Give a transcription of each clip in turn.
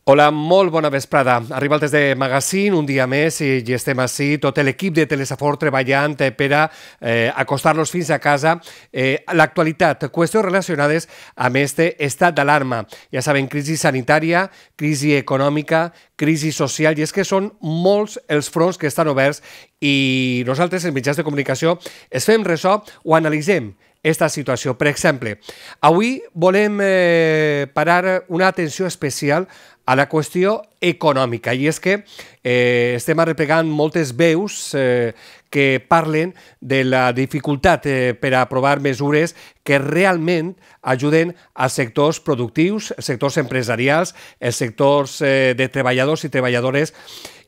Hola, molt bona vesprada. Arriba el Test de Magazine, un dia més, i estem així, tot l'equip de Telesafort treballant per a acostar-los fins a casa. L'actualitat, qüestions relacionades amb este estat d'alarma. Ja saben, crisi sanitària, crisi econòmica, crisi social, i és que són molts els fronts que estan oberts i nosaltres, els mitjans de comunicació, es fem ressò o analitzem esta situació. Per exemple, avui volem parar una atenció especial a la qüestió econòmica, i és que estem arreplegant moltes veus que parlen de la dificultat per a aprovar mesures que realment ajuden als sectors productius, els sectors empresarials, els sectors de treballadors i treballadores,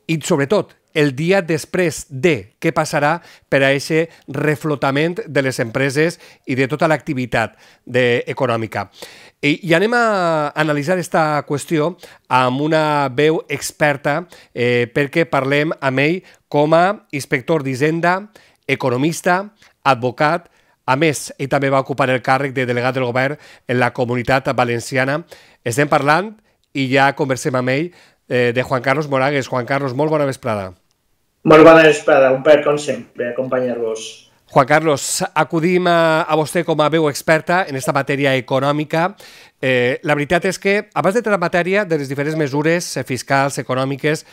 i sobretot el dia després de què passarà per a aquest reflotament de les empreses i de tota l'activitat econòmica. I anem a analitzar aquesta qüestió amb una veu experta perquè parlem amb ell com a inspector d'Hisenda, economista, advocat. A més, ell també va ocupar el càrrec de delegat del govern en la Comunitat Valenciana. Estem parlant, i ja conversem amb ell, de Juan Carlos Moragues. Juan Carlos, molt bona vesprada. Molt bona vesprada, un plaer com sempre acompanyar-vos. Juan Carlos, acudim a vostè com a veu experta en aquesta matèria econòmica. La veritat és que, abans d'entrar en matèria de les diferents mesures fiscals, econòmiques,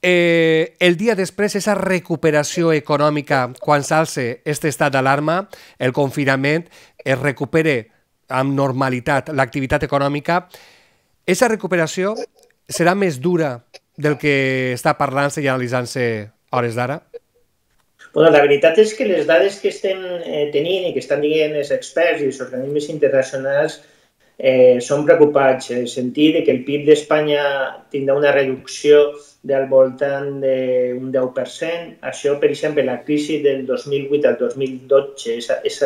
el dia després, aquesta recuperació econòmica, quan s'alça aquest estat d'alarma, el confinament, es recupera amb normalitat l'activitat econòmica, aquesta recuperació serà més dura del que està parlant-se i analitzant-se a hores d'ara? Bueno, la veritat és que les dades que estem tenint i que estan dient els experts i els organismes internacionals són preocupants, en el sentit que el PIB d'Espanya tindrà una reducció del voltant d'un 10%. Això, per exemple, la crisi del 2008 al 2012, és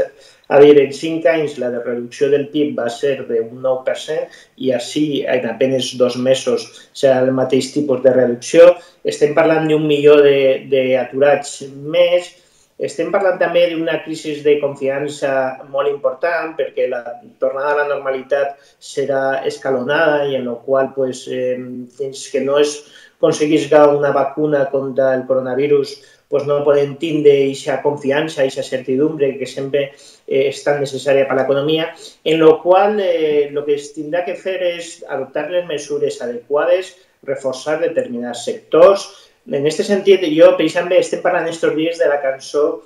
a dir, en 5 anys la reducció del PIB va ser d'un 9% i així en apenas 2 mesos serà el mateix tipus de reducció. Estem parlant d'1 milió d'aturats més. Estem parlant també d'una crisi de confiança molt important perquè la tornada a la normalitat serà escalonada i en la qual fins que no es aconseguisca una vacuna contra el coronavirus no podem tindre aquesta confiança, aquesta certidumbre que sempre és tan necessària per a l'economia, en la qual el que es tindrà que fer és adoptar les mesures adequades, reforçar determinats sectors. En aquest sentit, jo, per exemple, estem parlant aquests dies de la cançó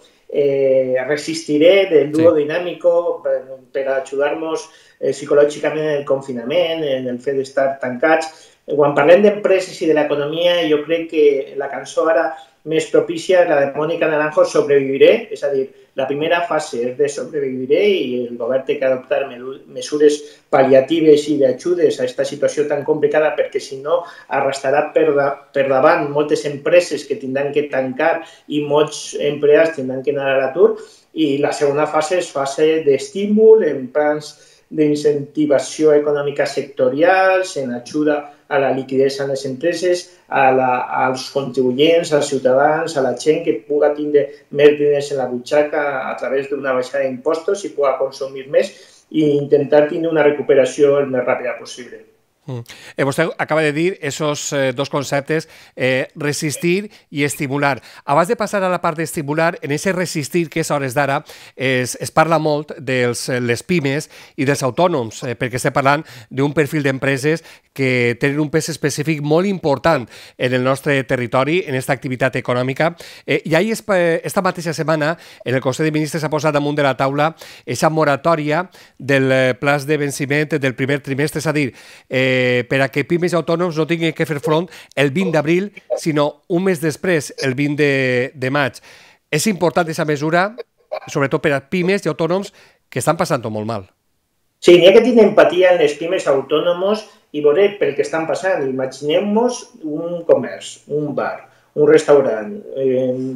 Resistiré, del dúo Dinámico, per ajudar-nos psicològicament en el confinament, en el fet d'estar tancats. Quan parlem d'empreses i de l'economia, jo crec que la cançó ara més propícia és la de Mónica Naranjo, Sobreviviré, és a dir, la primera fase és de sobreviviré i el govern té que adoptar mesures pal·liatives i d'ajudes a aquesta situació tan complicada perquè si no arrastrarà per davant moltes empreses que tindran que tancar i molts empleats tindran que anar a l'atur. I la segona fase és fase d'estímul en plans d'incentivació econòmica sectorials, en ajuda a la liquiditat en les empreses, als contribuents, als ciutadans, a la gent que pugui tindre més diners en la butxaca a través d'una baixada d'impostos i pugui consumir més i intentar tenir una recuperació el més ràpida possible. Vostè acaba de dir aquests dos conceptes, resistir i estimular. Abans de passar a la part d'estimular, en aquest resistir, que és a hores d'ara, es parla molt de les pimes i dels autònoms, perquè estem parlant d'un perfil d'empreses que tenen un pes específic molt important en el nostre territori, en aquesta activitat econòmica. I ahir, esta mateixa setmana, en el Consell de Ministres s'ha posat damunt de la taula aquesta moratòria del plaç de venciment del primer trimestre, és a dir, per a que pimes i autònoms no tinguin que fer front el 20 d'abril, sinó un mes després, el 20 de maig. És important aquesta mesura, sobretot per a pimes i autònoms que estan passant-ho molt mal. Sí, n'hi ha que tenir empatia en les pimes autònomos i veure pel que estan passant. Imaginem-nos un comerç, un bar, un restaurant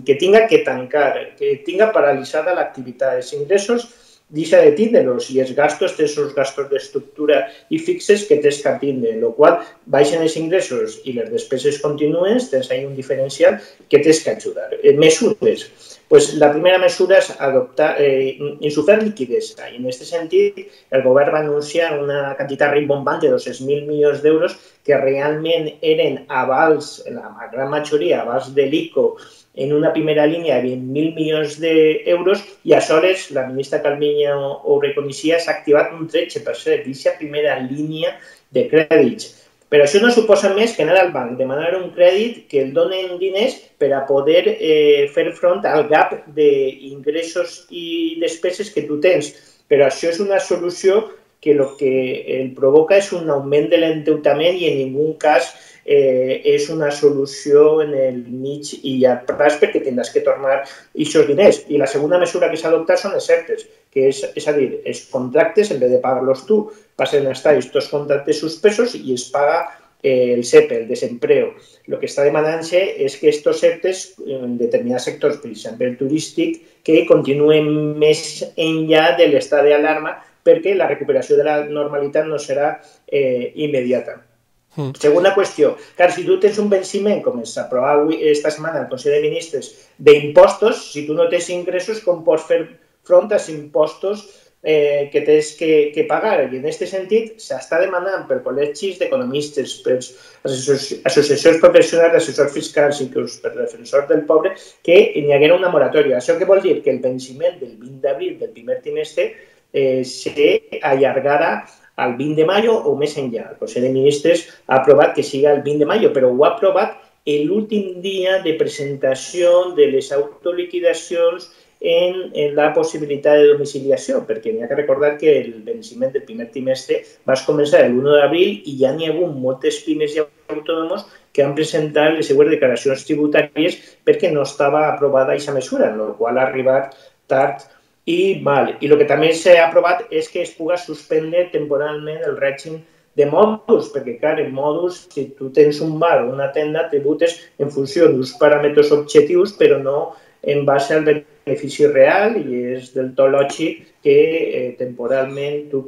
que tinga que tancar, que tinga paralitzada l'activitat. Els ingressos deixa de tindre-los i els gastos, tens els gastos d'estructura i fixes que tens que tindre, en la qual baixen els ingressos i les despeses contínues, tens ahí un diferencial que tens que ajudar. Mesures. Pues la primera mesura és adoptar, insuflar liquiditat. I en aquest sentit, el govern va anunciar una quantitat rimbombant de 200.000 milions d'euros que realment eren avals, la gran majoria avals de l'ICO, en una primera línia de 20.000 milions d'euros i aleshores la ministra Calviño ho reconeixia, s'ha activat un 13% d'aquesta primera línia de crèdits. Però això no suposa més que anar al banc, demanar un crèdit que el donen diners per a poder fer front al gap d'ingressos i despeses que tu tens. Però això és una solució que el que el provoca és un augment de l'endeutament i en ningú cas és una solució en el mig i llarg plaç perquè tindràs que tornar aquests diners. I la segona mesura que s'ha adoptat són els ERTEs, que és a dir, els contractes, en vez de pagar-los tu, passen a estar aquests contractes suspesos i es paga el SEPE, el desempleo. El que està demanant-se és que aquests ERTEs en determinats sectors, per exemple el turístic, que continuen més enllà de l'estat d'alarma perquè la recuperació de la normalitat no serà immediata. Segona qüestió, clar, si tu tens un venciment, com es aprova esta setmana al Consell de Ministres, d'impostos, si tu no tens ingressos, com pots fer front als impostos que tens que pagar? I en aquest sentit s'està demanant per col·legis d'economistes, per associacions professionals d'assessors fiscals, inclús per defensors del poble, que hi haguera una moratòria. Això què vol dir? Que el venciment del 20 d'abril del primer trimestre s'allargarà al 20 de mayo o més enllà. El Consell de Ministres ha aprovat que siga el 20 de mayo, però ho ha aprovat l'últim dia de presentació de les autoliquidacions en la possibilitat de domiciliació, perquè n'hi ha que recordar que el venciment del primer trimestre va començar el 1 d'abril i ja n'hi ha hagut moltes pimes i autònoms que han presentat les seues declaracions tributàries perquè no estava aprovada aquesta mesura, en la qual ha arribat tard i mal. I el que també s'ha aprovat és que es pugui suspendre temporalment el règim de mòduls, perquè, clar, en mòduls, si tu tens un bar o una tenda, tributes en funció d'uns paràmetres objectius, però no en base al benefici real, i és del tot lògic que temporalment tu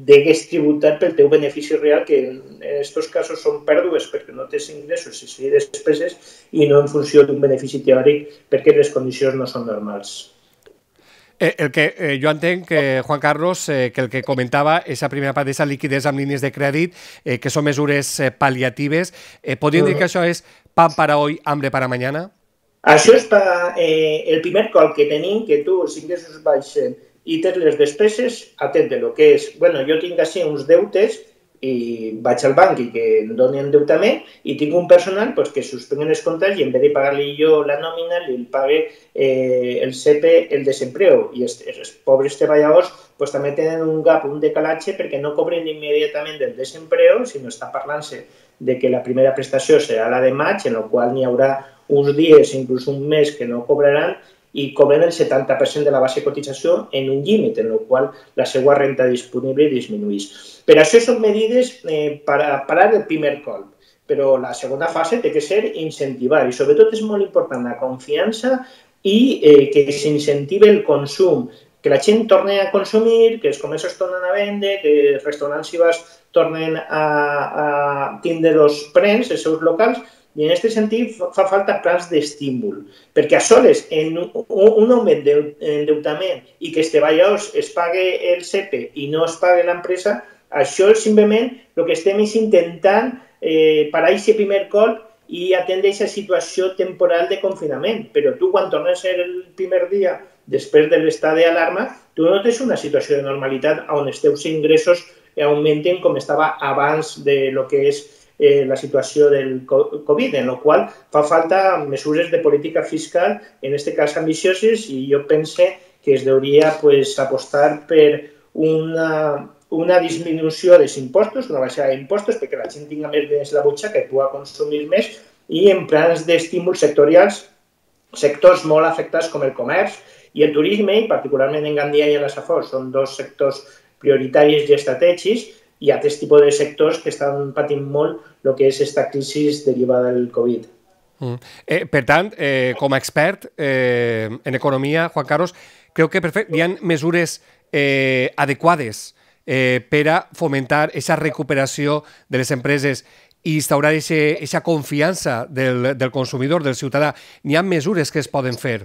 degues tributar pel teu benefici real, que en aquests casos són pèrdues perquè no tens ingressos i despeses, i no en funció d'un benefici teòric perquè les condicions no són normals. El que jo entenc, Juan Carlos, que el que comentava, aquesta primera part d'aquesta liquiditat amb línies de crèdit, que són mesures pal·liatives, podríem dir que això és pan para hoy, hambre para mañana? Això és el primer cop que tenim, que tu els ingressos baixen i tens les despeses, atén-te-lo, que és, bueno, jo tinc així uns deutes i vaig al banc i que em doni endeutament i tinc un personal que suspenguen els comptes i en vez de pagar-li jo la nòmina li pague el SEPE, el desempleo, i els pobres treballadors també tenen un gap, un decalatge perquè no cobren immediatament del desempleo, sinó està parlant-se de que la primera prestació serà la de maig, en la qual n'hi haurà uns dies, inclús un mes, que no cobraran i cobren el 70% de la base de cotització en un límit, en el qual la seva renta disponible disminueix. Per això són medides per a parar el primer colp, però la segona fase té que ser incentivar, i sobretot és molt important la confiança i que s'incentive el consum, que la gent torni a consumir, que els comerços tornen a vendre, que els restaurants i bars tornen a tindre els prens, els seus locals. I en aquest sentit fa falta plans d'estímul, perquè a soles en un augment d'endeutament i que els treballadors es pague el SEPE i no es pague l'empresa, això simplement el que estem és intentant parar aquest primer colp i atendre aquesta situació temporal de confinament. Però tu, quan tornes el primer dia després de l'estat d'alarma, tu no tens una situació de normalitat on els teus ingressos augmenten com estava abans de lo que és la situació del Covid, en la qual fa falta mesures de política fiscal, en aquest cas ambicioses, i jo pense que es hauria apostar per una disminució dels impostos, una baixada d'impostos, perquè la gent tinga més diners a la butxaca i pugui consumir més, i en plans d'estímuls sectorials, sectors molt afectats com el comerç i el turisme, i particularment en Gandia i a la Safor, són dos sectors prioritaris i estratègics, i altres tipus de sectors que estan patint molt el que és aquesta crisi derivada del Covid. Per tant, com a expert en economia, Juan Carlos, creu que hi ha mesures adequades per a fomentar aquesta recuperació de les empreses i instaurar aquesta confiança del consumidor, del ciutadà. N'hi ha mesures que es poden fer?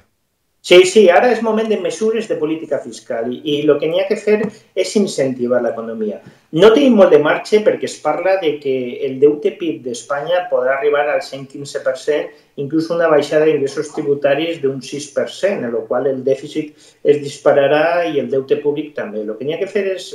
Sí, ara és moment de mesures de política fiscal i el que n'hi ha que fer és incentivar l'economia. No tenim molt de marge perquè es parla de que el deute PIB d'Espanya podrà arribar al 115%, inclús una baixada d'ingressos tributaris d'un 6%, en la qual el dèficit es dispararà i el deute públic també. El que n'hi ha que fer és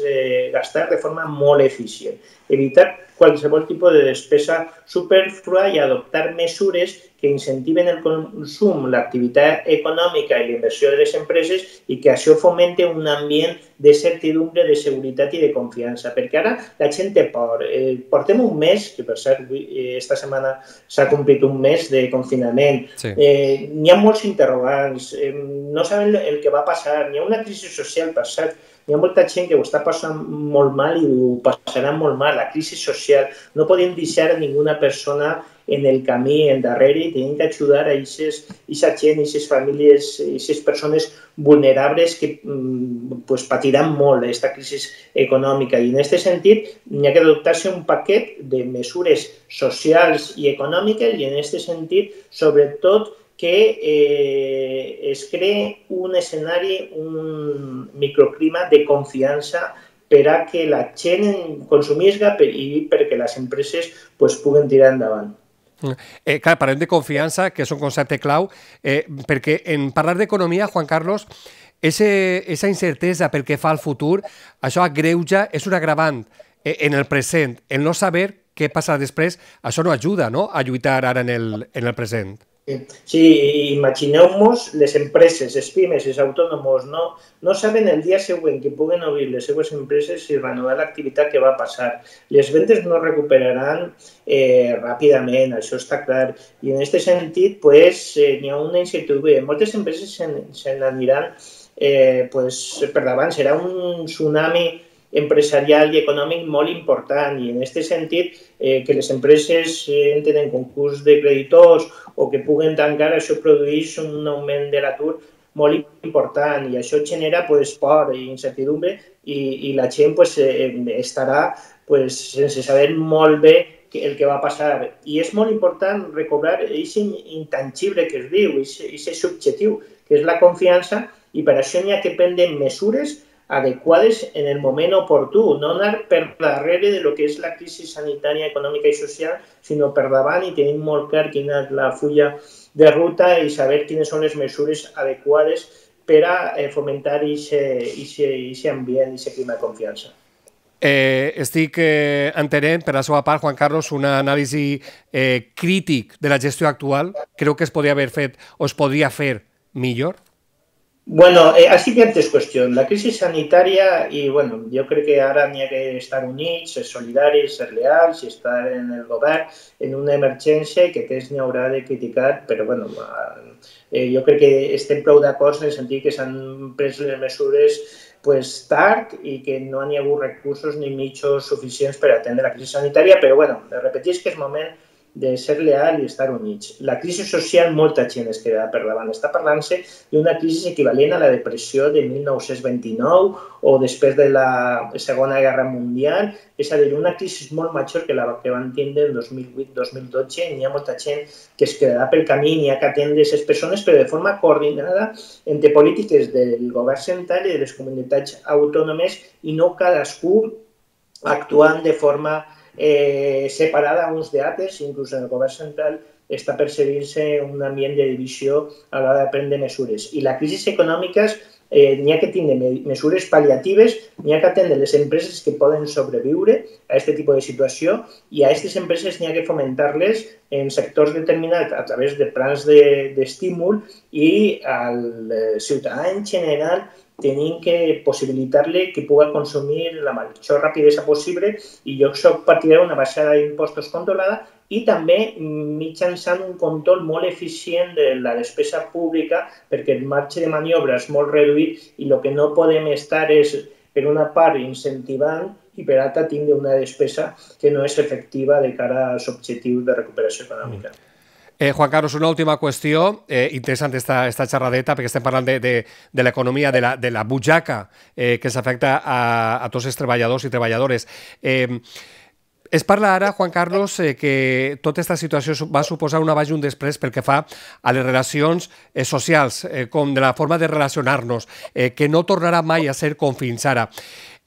gastar de forma molt eficient, evitar qualsevol tipus de despesa superflua i adoptar mesures que incentiven el consum, l'activitat econòmica i la inversió de les empreses i que això fomente un ambient de certidumbre, de seguretat i de confiança. Perquè ara la gent té por. Portem un mes, que per cert, esta setmana s'ha complit un mes de confinament. Sí. N'hi ha molts interrogants, no saben el que va passar, n'hi ha una crisi social, per cert, hi ha molta gent que ho està passant molt mal i ho passarà molt mal, la crisi social. No podem deixar a ninguna persona en el camí endarrere i tenim que ajudar a aquesta gent, a aquestes famílies, a aquestes persones vulnerables que patiran molt aquesta crisi econòmica. I en aquest sentit n'hi ha que adoptar-se un paquet de mesures socials i econòmiques i en aquest sentit, sobretot, que es cree un escenari, un microclima de confiança per a que la gent consumisca i perquè les empreses puguen tirar endavant. Clar, parlem de confiança, que és un concepte clau, perquè en parlar d'economia, Juan Carlos, aquesta incertesa pel que fa al futur, això agreuja, és un agravant en el present. El no saber què passarà després, això no ajuda, no?, a lluitar ara en el present. Sí, imagineu-vos les empreses, les pimes, els autònoms, no saben el dia següent que puguen obrir les seves empreses i renovar l'activitat que va passar. Les vendes no recuperaran ràpidament, això està clar. I en aquest sentit, n'hi ha una incertidumbre. Moltes empreses se n'aniran per davant. Serà un tsunami empresarial i econòmic molt important i en aquest sentit que les empreses entren en concurs de creditors o que puguen tancar, això produeix un augment de l'atur molt important i això genera por i incertidumbre i la gent estarà sense saber molt bé el que va passar. I és molt important recobrar aquest intangible que es diu, aquest subjectiu, que és la confiança i per això n'hi ha que prendre mesures adequades en el moment oportú, no anar per darrere de lo que és la crisi sanitària, econòmica i social, sinó per davant i tenim molt clar quina és la fulla de ruta i saber quines són les mesures adequades per a fomentar aquest ambient, aquest clima de confiança. Estic entenent, per la seva part, Juan Carlos, un anàlisi crític de la gestió actual. Creu que es podria haver fet o es podria fer millor? Bueno, així que hi ha tres qüestions. La crisi sanitària, i bueno, jo crec que ara n'hi ha que estar units, ser solidaris, ser leals i estar en el govern en una emergència i que aquests n'hi haurà de criticar, però bueno, jo crec que estem prou d'acord en el sentit que s'han pres les mesures tard i que no hi ha hagut recursos ni mitjans suficients per atendre la crisi sanitària, però bueno, repeteix que és moment de ser leal i estar units. La crisi social, molta gent es queda per davant. Està parlant-se d'una crisi equivalent a la depressió de 1929 o després de la Segona Guerra Mundial, és a dir, una crisi molt major que la que van tindre en 2008-2012. N'hi ha molta gent que es quedarà pel camí, n'hi ha que atendre aquestes persones, però de forma coordinada entre polítiques del govern central i de les comunitats autònomes i no cadascú actuant de forma separada uns d'altres, inclús en el govern central està percebint-se un ambient de divisió a l'hora de prendre mesures. I la crisi econòmica n'hi ha que tindre mesures pal·liatives, n'hi ha que atendre les empreses que poden sobreviure a aquest tipus de situació i a aquestes empreses n'hi ha que fomentar-les en sectors determinats a través de plans d'estímul i al ciutadà en general tenim que possibilitar-li que pugui consumir la major rapidesa possible i jo soc partidari d'una baixada d'impostos controlada i també mitjançant un control molt eficient de la despesa pública perquè el marge de maniobra és molt reduït i el que no podem estar és, per una part, incentivant i per altra tindre una despesa que no és efectiva de cara als objectius de recuperació econòmica. Juan Carlos, una última qüestió, interessant esta xerradeta, perquè estem parlant de l'economia, de la butxaca que s'afecta a tots els treballadors i treballadores. Es parla ara, Juan Carlos, que tota aquesta situació va suposar un abans i un després pel que fa a les relacions socials, com de la forma de relacionar-nos, que no tornarà mai a ser com fins ara.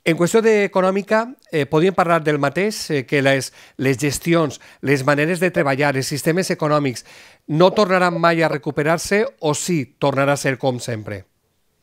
En qüestió econòmica, podríem parlar del mateix, que les gestions, les maneres de treballar, els sistemes econòmics, no tornaran mai a recuperar-se o sí tornarà a ser com sempre?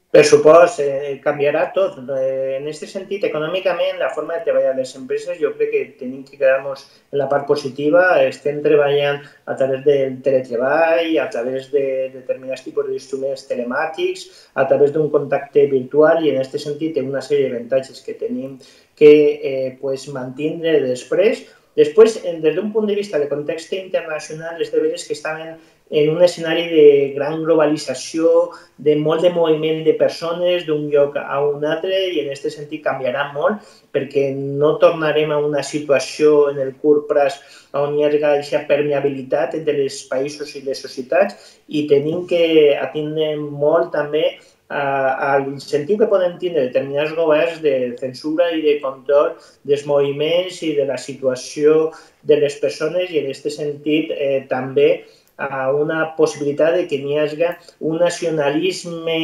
Per supost, canviarà tot. En aquest sentit, econòmicament, la forma de treballar les empreses, jo crec que tenim que quedar-nos en la part positiva. Estem treballant a través del teletreball, a través de determinats tipus d'instruments telemàtics, a través d'un contacte virtual i en aquest sentit té una sèrie d'avantatges que tenim que mantindre després. Després, des d'un punt de vista de context internacional, és de veres que estaven en un escenari de gran globalització, de molt de moviment de persones d'un lloc a un altre i en aquest sentit canviarà molt perquè no tornarem a una situació en el curt plaç on hi ha aquesta permeabilitat entre els països i les societats i tenim que atendre molt també a l'incentiu que poden tindre determinats governs de censura i de control dels moviments i de la situació de les persones i en aquest sentit també a una possibilitat de que n'hi hagi un nacionalisme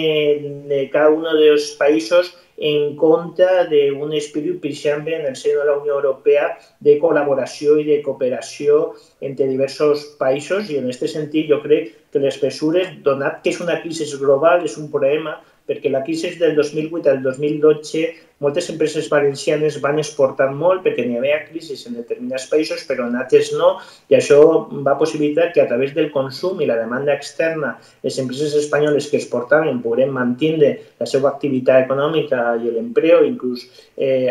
de cada un dels països en contra d'un espírit, per exemple, en el seno de la Unió Europea de col·laboració i de cooperació entre diversos països i en aquest sentit jo crec que les mesures, donat que és una crisi global, és un problema perquè la crisi del 2008 al 2012 moltes empreses valencianes van exportar molt perquè n'hi havia crisis en determinats països però en altres no i això va possibilitar que a través del consum i la demanda externa les empreses espanyoles que exportaven pogueren mantenir la seva activitat econòmica i l'empleo, inclús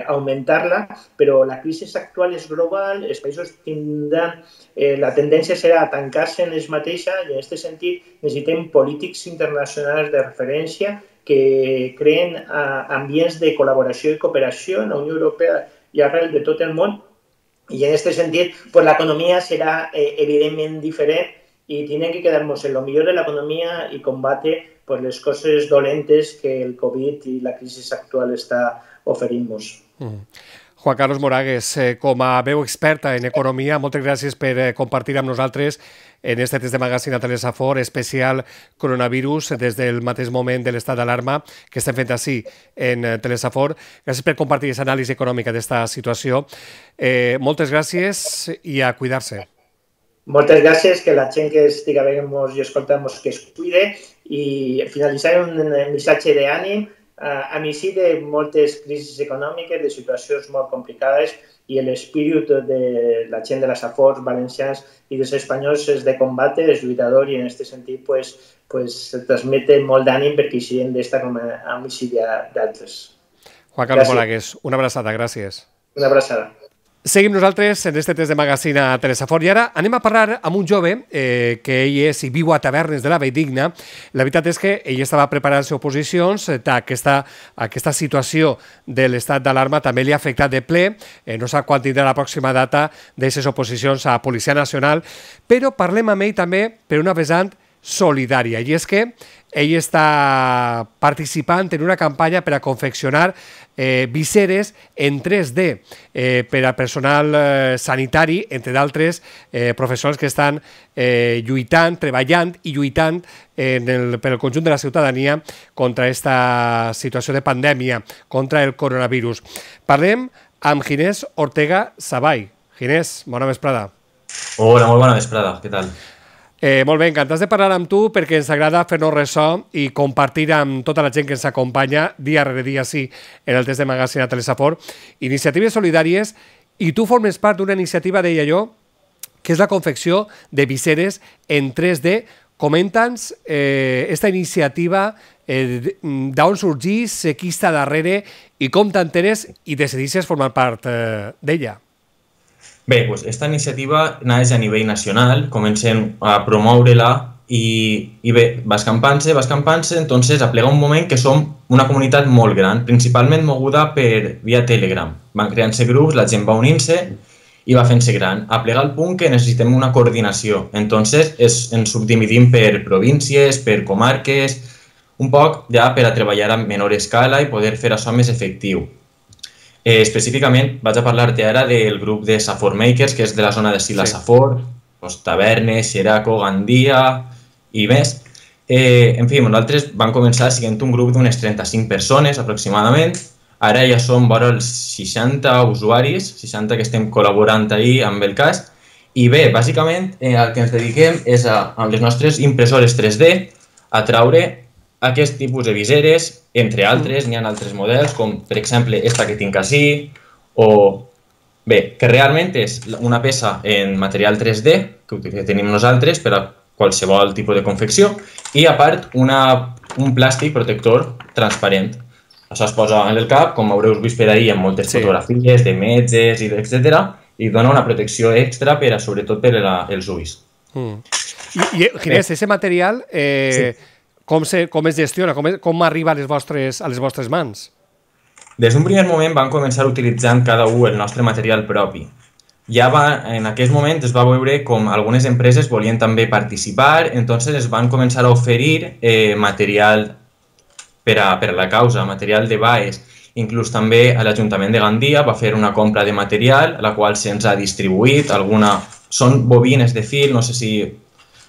augmentar-la, però la crisi actual és global, els països tindran, la tendència serà a tancar-se en ells mateixos i en aquest sentit necessitem polítics internacionals de referència que creen ambients de col·laboració i cooperació en la Unió Europea i arrel de tot el món. I en aquest sentit, l'economia serà evidentment diferent i tenim que quedar-nos en el millor de l'economia i combatre les coses dolentes que el Covid i la crisi actual està oferint-nos. Juan Carlos Moragues, com a veu experta en economia, moltes gràcies per compartir amb nosaltres en este test de magazine a Telesafor especial coronavirus des del mateix moment de l'estat d'alarma que estem fent així en Telesafor. Gràcies per compartir aquesta anàlisi econòmica d'aquesta situació. Moltes gràcies i a cuidar-se. Moltes gràcies, que la gent que estiga veient-nos i escoltant-nos que es cuide i finalitzar un missatge d'ànim a mi sí de moltes crisis econòmiques, de situacions molt complicades i l'espírit de la gent de les Afors valencians i dels espanyols és de combate, és lluitador i en aquest sentit transmete molt d'ànim perquè hi siguin d'esta com a homicida d'altres. Juan Carlos Moragues, una abraçada, gràcies. Una abraçada. Seguim nosaltres en este test de magazine a Telesafor i ara anem a parlar amb un jove que ell és i viu a Tavernes de la Valldigna. La veritat és que ell estava preparant-se oposicions, aquesta situació de l'estat d'alarma també li ha afectat de ple, no sap quan tindrà la pròxima data d'aquestes oposicions a Policia Nacional, però parlem amb ell també per una vessant solidària, i és que ell està participant en una campanya per a confeccionar viseres en 3D per a personal sanitari, entre d'altres professionals que estan lluitant, treballant i lluitant per al conjunt de la ciutadania contra aquesta situació de pandèmia, contra el coronavirus. Parlem amb Ginés Ortega Savall. Ginés, bona vesprada. Hola, molt bona vesprada, què tal? Molt bé, encantats de parlar amb tu perquè ens agrada fer-nos ressò i compartir amb tota la gent que ens acompanya dia rere dia, sí, en el test de magazine a Telesafor, iniciatives solidàries, i tu formes part d'una iniciativa, deia jo, que és la confecció de viseres en 3D. Comenta'ns esta iniciativa, d'on sorgís, qui està darrere i com t'enteres i decidissis formar part d'ella. Bé, doncs aquesta iniciativa naix a nivell nacional, comencem a promoure-la i bé, va escampant-se, entonces aplega un moment que som una comunitat molt gran, principalment moguda per via Telegram. Van creant-se grups, la gent va unint-se i va fent-se gran. Aplega al punt que necessitem una coordinació, entonces ens subdividim per províncies, per comarques, un poc ja per a treballar a menor escala i poder fer això més efectiu. Específicament vaig a parlar-te ara del grup de Safor Makers, que és de la zona de Sila Safor, Tavernes, Xeraco, Gandia i més. En fi, nosaltres vam començar sent un grup d'unes 35 persones aproximadament. Ara ja som vora els 60 usuaris, 60 que estem col·laborant ahir amb el cas. I bé, bàsicament el que ens dediquem és amb les nostres impressores 3D a traure aquest tipus de viseres, entre altres, n'hi ha altres models, com per exemple esta que tinc ací, o bé, que realment és una peça en material 3D que tenim nosaltres per a qualsevol tipus de confecció i a part un plàstic protector transparent. Això es posa en el cap, com haureu vist per ahir en moltes fotografies de metges, etc. I dona una protecció extra per a, sobretot per als ulls. I Ginés, aquest material com es gestiona? Com arriba a les vostres mans? Des d'un primer moment vam començar utilitzant cada un el nostre material propi. En aquest moment es va veure com algunes empreses volien també participar, entonces es van començar a oferir material per a la causa, material de baes. Inclús també a l'Ajuntament de Gandia va fer una compra de material, la qual se'ns ha distribuït. Són bobines de fil, no sé si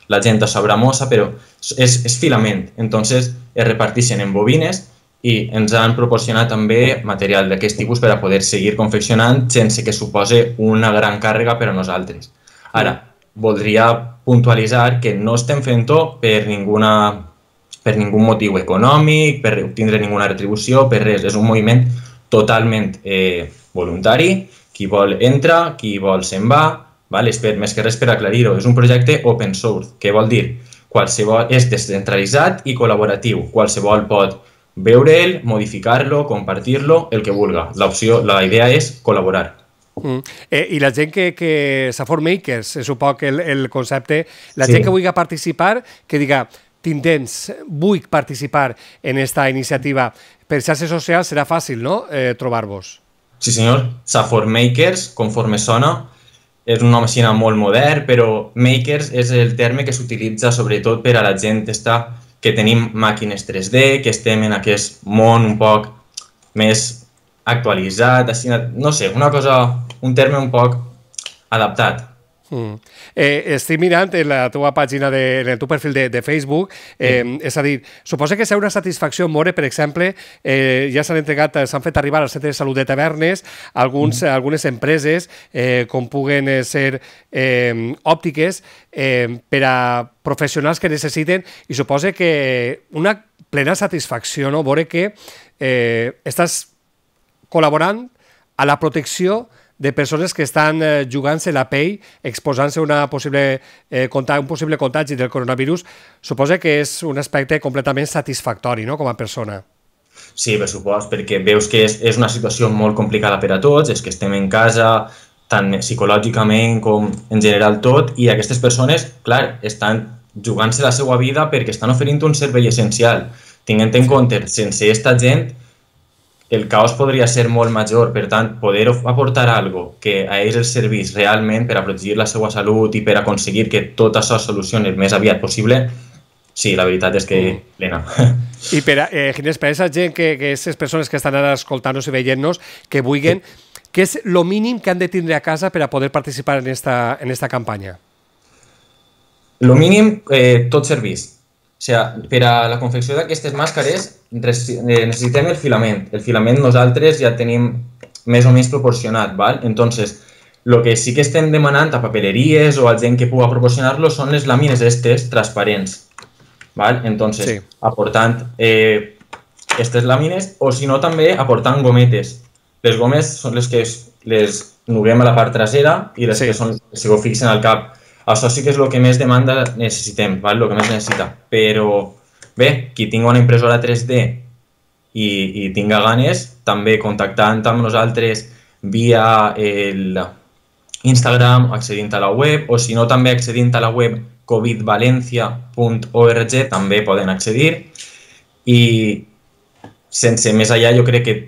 la gent ho sabrà mossa, però és filament. Entonces es reparteixen en bobines i ens han proporcionat també material d'aquest tipus per a poder seguir confeccionant sense que supose una gran càrrega per a nosaltres. Ara, voldria puntualitzar que no estem fent-ho per ningú motiu econòmic, per obtindre ninguna retribució, per res. És un moviment totalment voluntari. Qui vol entra, qui vol se'n va. Més que res per aclarir-ho. És un projecte open source, que vol dir és descentralitzat i col·laboratiu. Qualsevol pot veure'l, modificar-lo, compartir-lo, el que vulga. La idea és col·laborar. I la gent que Safor Makers, és un poc el concepte, la gent que vulgui participar, que diga t'intens, vull participar en esta iniciativa. Per xarxes socials serà fàcil, no?, trobar-vos. Sí, senyor. Safor Makers, conforme sona, és un nom així molt modern, però Makers és el terme que s'utilitza sobretot per a la gent que tenim màquines 3D, que estem en aquest món un poc més actualitzat, no sé, un terme un poc adaptat. Estic mirant en la teva pàgina, en el teu perfil de Facebook, és a dir, suposa que serà una satisfacció veure, per exemple, ja s'han fet arribar al centre de salut de Tavernes algunes empreses com puguen ser òptiques per a professionals que necessiten, i suposa que una plena satisfacció, no?, veure que estàs col·laborant a la protecció de persones que estan jugant-se la pell, exposant-se a un possible contagi del coronavirus. Suposa que és un aspecte completament satisfactori, no?, com a persona. Sí, per supost, perquè veus que és una situació molt complicada per a tots, és que estem en casa, tant psicològicament com en general tot, i aquestes persones, clar, estan jugant-se la seva vida perquè estan oferint un servei essencial. Tinguent en compte, sense aquesta gent, el caos podria ser molt major. Per tant, poder aportar alguna cosa que a ells els servís realment per a protegir la seva salut i per a aconseguir que tot això es solucioni el més aviat possible, sí, la veritat és que plena. I Ginés, per a aquesta gent, que aquestes persones que estan ara escoltant-nos i veient-nos, que vulguin, què és el mínim que han de tindre a casa per a poder participar en esta campanya? El mínim, tot servís. O sigui, per a la confecció d'aquestes màscares necessitem el filament. El filament nosaltres ja tenim més o menys proporcionat, ¿vale? Entonces, el que sí que estem demanant a papeleries o a gent que pugui proporcionar-lo són les làmines aquestes transparents, ¿vale? Entonces, aportant aquestes làmines, o si no també aportant gometes. Les gomes són les que les nuguem a la part trasera i les que se fixen al cap. Això sí que és el que més demanda necessitem, el que més necessita. Però bé, qui tingui una impressora 3D i tinga ganes, també contactant amb nosaltres via Instagram, accedint a la web, o si no també accedint a la web covidvalencia.org també poden accedir. I sense més allà, jo crec que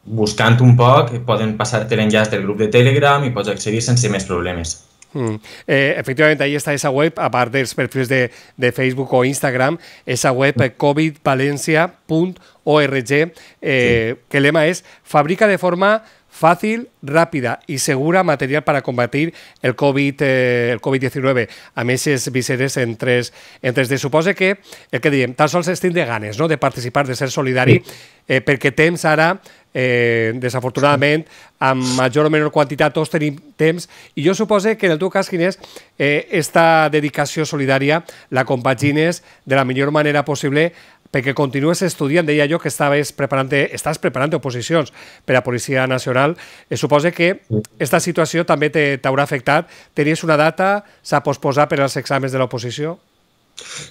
buscant un poc poden passar-te l'enllaç del grup de Telegram i pots accedir sense més problemes. Efectivament, ahí està esa web, a part dels perfils de Facebook o Instagram, esa web covidvalencia.org. que el lema es fabrica de forma fàcil, ràpida i segura material per a combatir el Covid-19 amb aquestes viseres en 3D. Suposa que, el que diem, tan sols es tindre ganes, no?, de participar, de ser solidari, perquè temps ara, desafortunadament, amb major o menor quantitat, tots tenim temps, i jo suposo que en el teu cas, Ginés, esta dedicació solidària la compagines de la millor manera possible perquè continues estudiant. Deia jo que estàs preparant oposicions per a Policia Nacional. Suposo que aquesta situació també t'haurà afectat. Tenies una data, s'ha posposat per als exàmens de l'oposició?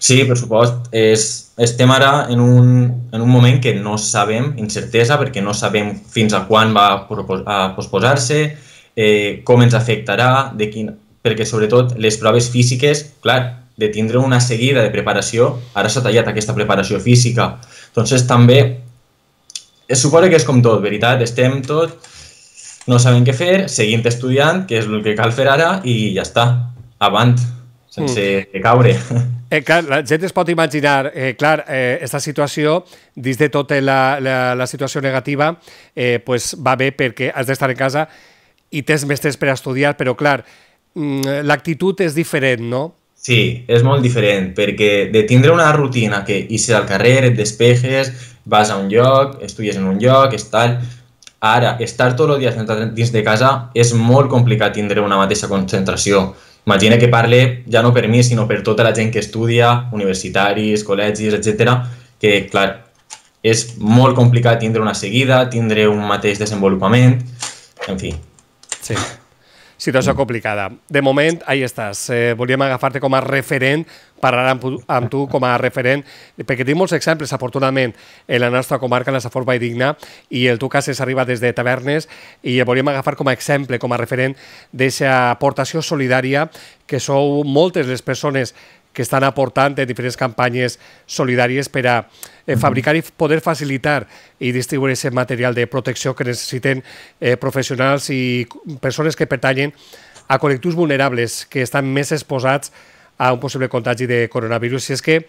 Sí, per supost. Estem ara en un moment que no sabem, incertesa, perquè no sabem fins a quan va posposar-se, com ens afectarà, perquè sobretot les proves físiques, clar, de tindre una seguida de preparació, ara s'ha tallat aquesta preparació física. Entonces també, es suposa que és com tot, veritat? Estem tot, no sabem què fer, seguint estudiant, que és el que cal fer ara, i ja està, avant, sense caure. Clar, la gent es pot imaginar, aquesta situació, dins de tota la situació negativa, va bé perquè has d'estar en casa i tens més temps per estudiar, però clar, l'actitud és diferent, no? Sí, és molt diferent, perquè de tindre una rutina que ixes al carrer, et despejes, vas a un lloc, estudies en un lloc, ara, estar tot el dia dins de casa és molt complicat tindre una mateixa concentració. Imagina que parle ja no per mi, sinó per tota la gent que estudia, universitaris, col·legis, etc. Que, clar, és molt complicat tindre una seguida, tindre un mateix desenvolupament, en fi. Sí. Situació complicada. De moment, ahí estàs. Volíem agafar-te com a referent, parlar amb tu com a referent, perquè tenim molts exemples, afortunadament, en la nostra comarca, en la Safor Valldigna, i el teu cas és arriba des de Tavernes, i el volíem agafar com a exemple, com a referent d'aquesta aportació solidària, que sou moltes les persones que estan aportant en diferents campanyes solidàries per a fabricar i poder facilitar i distribuir aquest material de protecció que necessiten professionals i persones que pertanyen a col·lectius vulnerables que estan més exposats a un possible contagi de coronavirus. I és que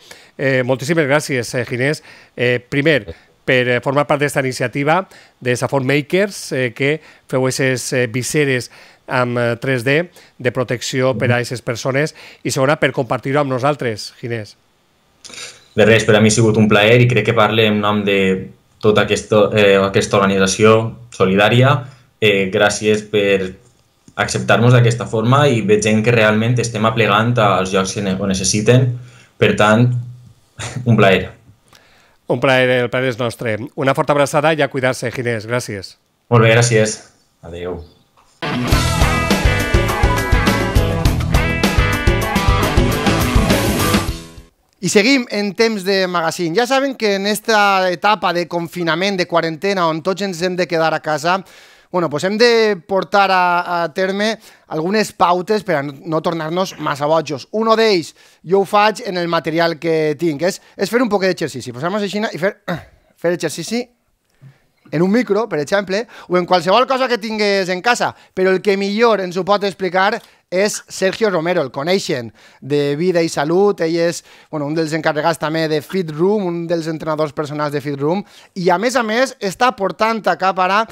moltíssimes gràcies, Ginés. Primer, per formar part d'aquesta iniciativa de Safor Makers, que feu aquestes viseres amb 3D de protecció per a aquestes persones, i segona, per compartir-ho amb nosaltres, Ginés. De res, per a mi ha sigut un plaer i crec que parle en nom de tota aquesta organització solidària. Gràcies per acceptar-nos d'aquesta forma i veig gent que realment estem aplegant als llocs que ho necessiten. Per tant, un plaer. Un plaer, el plaer és nostre. Una forta abraçada i a cuidar-se, Ginés. Gràcies. Molt bé, gràcies. Adéu. I seguim en temps de magazín. Ja saben que en esta etapa de confinament, de quarantena, on tots ens hem de quedar a casa, pues hem de portar a terme algunes pautes per a no tornar-nos massa bojos. Un d'ells, jo ho faig en el material que tinc, és fer un poc d'exercici. Posar-nos així i fer exercici en un micro, per exemple, o en qualsevol cosa que tingues en casa. Però el que millor ens ho pot explicar és Sergio Romero, el coneixen de Vida i Salut. Ell és un dels encarregats també de Fit Room, un dels entrenadors personals de Fit Room, i a més està portant a cap ara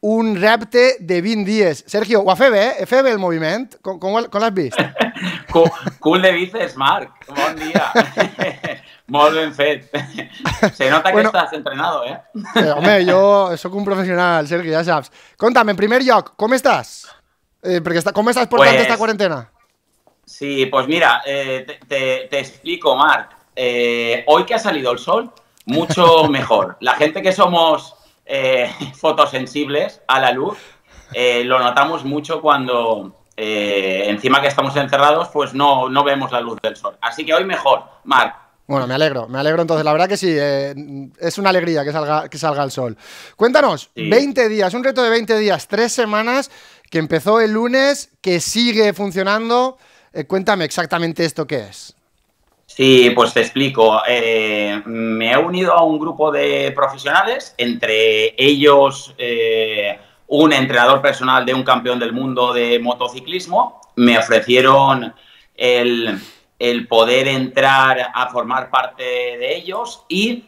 un repte de 20 dies. Sergio, ho ha fet bé? He fet bé el moviment? Com l'has vist? Cool de bíceps, Marc. Bon dia. Molt ben fet. Se nota que estàs entrenado, eh? Home, jo sóc un professional, Sergio, ja saps. Conta'm, en primer lloc, com estàs? ¿Cómo estás portando esta cuarentena? Sí, pues mira, te explico, Marc. Hoy que ha salido el sol, mucho mejor. La gente que somos fotosensibles a la luz, lo notamos mucho cuando encima que estamos encerrados, pues no vemos la luz del sol. Así que hoy mejor, Marc. Bueno, me alegro entonces, la verdad que sí, es una alegría que salga el sol. Cuéntanos, sí. 20 días, un reto de 20 días, 3 semanas, que empezó el lunes, que sigue funcionando. Cuéntame exactamente esto qué es. Sí, pues te explico. Me he unido a un grupo de profesionales, entre ellos un entrenador personal de un campeón del mundo de motociclismo. Me ofrecieron el poder entrar a formar parte de ellos y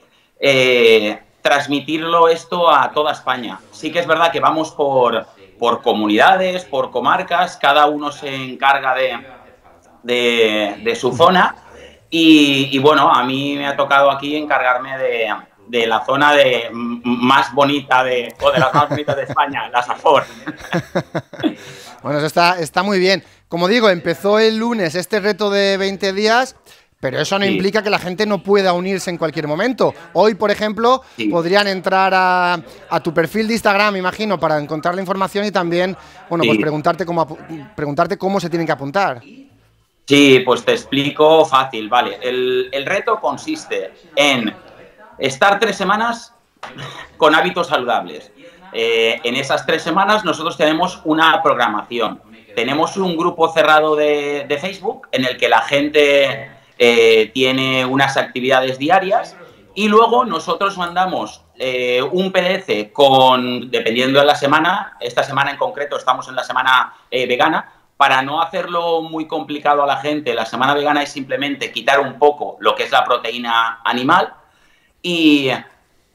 transmitirlo esto a toda España. Sí que es verdad que vamos por comunidades, por comarcas, cada uno se encarga de su zona y bueno, a mí me ha tocado aquí encargarme de la zona más bonita o de las más bonitas de España, la Safor. Bueno, eso está muy bien. Como digo, empezó el lunes este reto de 20 días, pero eso no implica que la gente no pueda unirse en cualquier momento. Hoy, por ejemplo, podrían entrar a tu perfil de Instagram, imagino, para encontrar la información y también, bueno, pues preguntarte cómo se tienen que apuntar. Sí, pues te explico fácil, vale. El reto consiste en estar 3 semanas con hábitos saludables. En esas 3 semanas nosotros tenemos una programación. Tenemos un grupo cerrado de Facebook en el que la gente tiene unas actividades diarias y luego nosotros mandamos un PDF dependiendo de la semana, esta semana en concreto estamos en la semana vegana, para no hacerlo muy complicado a la gente. La semana vegana es simplemente quitar un poco lo que es la proteína animal y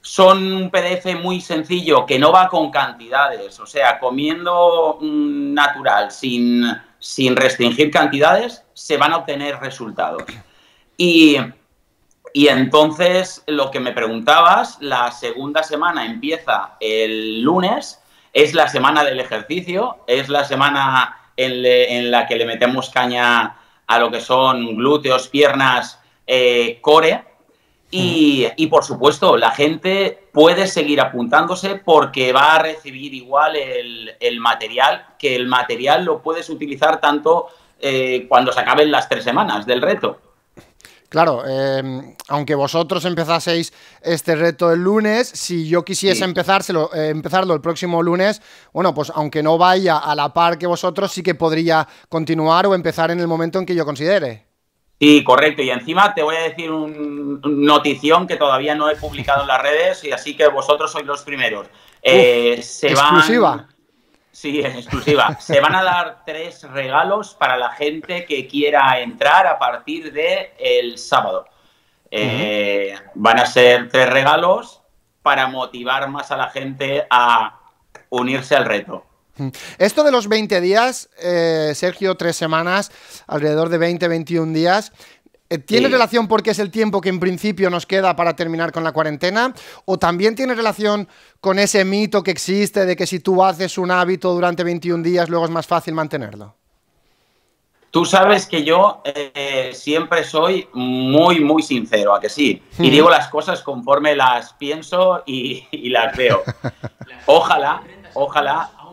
son un PDF muy sencillo que no va con cantidades, o sea, comiendo natural, sin restringir cantidades, se van a obtener resultados. Y entonces, lo que me preguntabas, la segunda semana empieza el lunes, es la semana del ejercicio, es la semana en la que le metemos caña a lo que son glúteos, piernas, core. Y por supuesto, la gente puede seguir apuntándose porque va a recibir igual el material, que el material lo puedes utilizar tanto cuando se acaben las 3 semanas del reto. Claro, aunque vosotros empezaseis este reto el lunes, si yo quisiese empezarlo el próximo lunes, bueno, pues aunque no vaya a la par que vosotros, sí que podría continuar o empezar en el momento en que yo considere. Sí, correcto. Y encima te voy a decir una notición que todavía no he publicado en las redes, y así que vosotros sois los primeros. Exclusiva. Sí, es exclusiva. Se van a dar 3 regalos para la gente que quiera entrar a partir del sábado. Van a ser 3 regalos para motivar más a la gente a unirse al reto. Esto de los 20 días, Sergio, 3 semanas, alrededor de 20-21 días, ¿tiene relación porque es el tiempo que en principio nos queda para terminar con la cuarentena? ¿O también tiene relación con ese mito que existe de que si tú haces un hábito durante 21 días, luego es más fácil mantenerlo? Tú sabes que yo siempre soy muy, muy sincero, ¿a que sí? Y digo las cosas conforme las pienso y las veo. Ojalá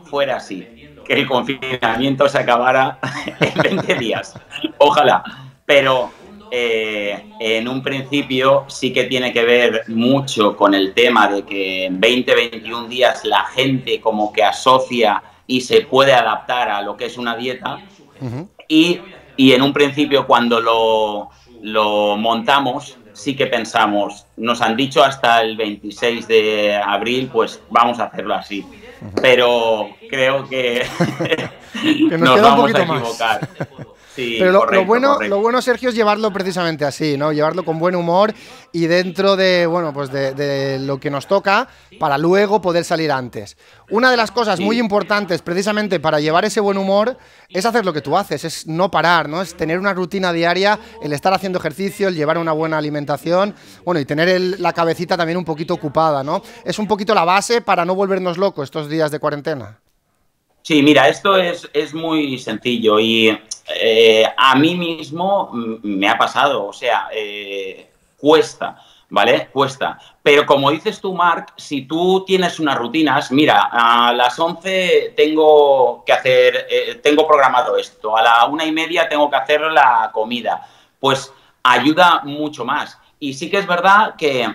fuera así, que el confinamiento se acabara en 20 días. Ojalá. Pero en un principio sí que tiene que ver mucho con el tema de que en 20-21 días la gente como que asocia y se puede adaptar a lo que es una dieta. Y en un principio cuando lo montamos sí que pensamos, nos han dicho hasta el 26 de abril, pues vamos a hacerlo así. Pero creo que nos vamos a equivocar. Sí, pero correcto, lo bueno, Sergio, es llevarlo precisamente así, ¿no? Llevarlo con buen humor y dentro de, bueno, pues de lo que nos toca para luego poder salir antes. Una de las cosas muy importantes precisamente para llevar ese buen humor es hacer lo que tú haces, es no parar, ¿no? Es tener una rutina diaria, el estar haciendo ejercicio, el llevar una buena alimentación, bueno, y tener la cabecita también un poquito ocupada, ¿no? Es un poquito la base para no volvernos locos estos días de cuarentena. Sí, mira, esto es muy sencillo y a mí mismo me ha pasado, o sea, cuesta, ¿vale? Cuesta. Pero como dices tú, Marc, si tú tienes unas rutinas, mira, a las 11 tengo que hacer, tengo programado esto, a la 1:30 tengo que hacer la comida, pues ayuda mucho más. Y sí que es verdad que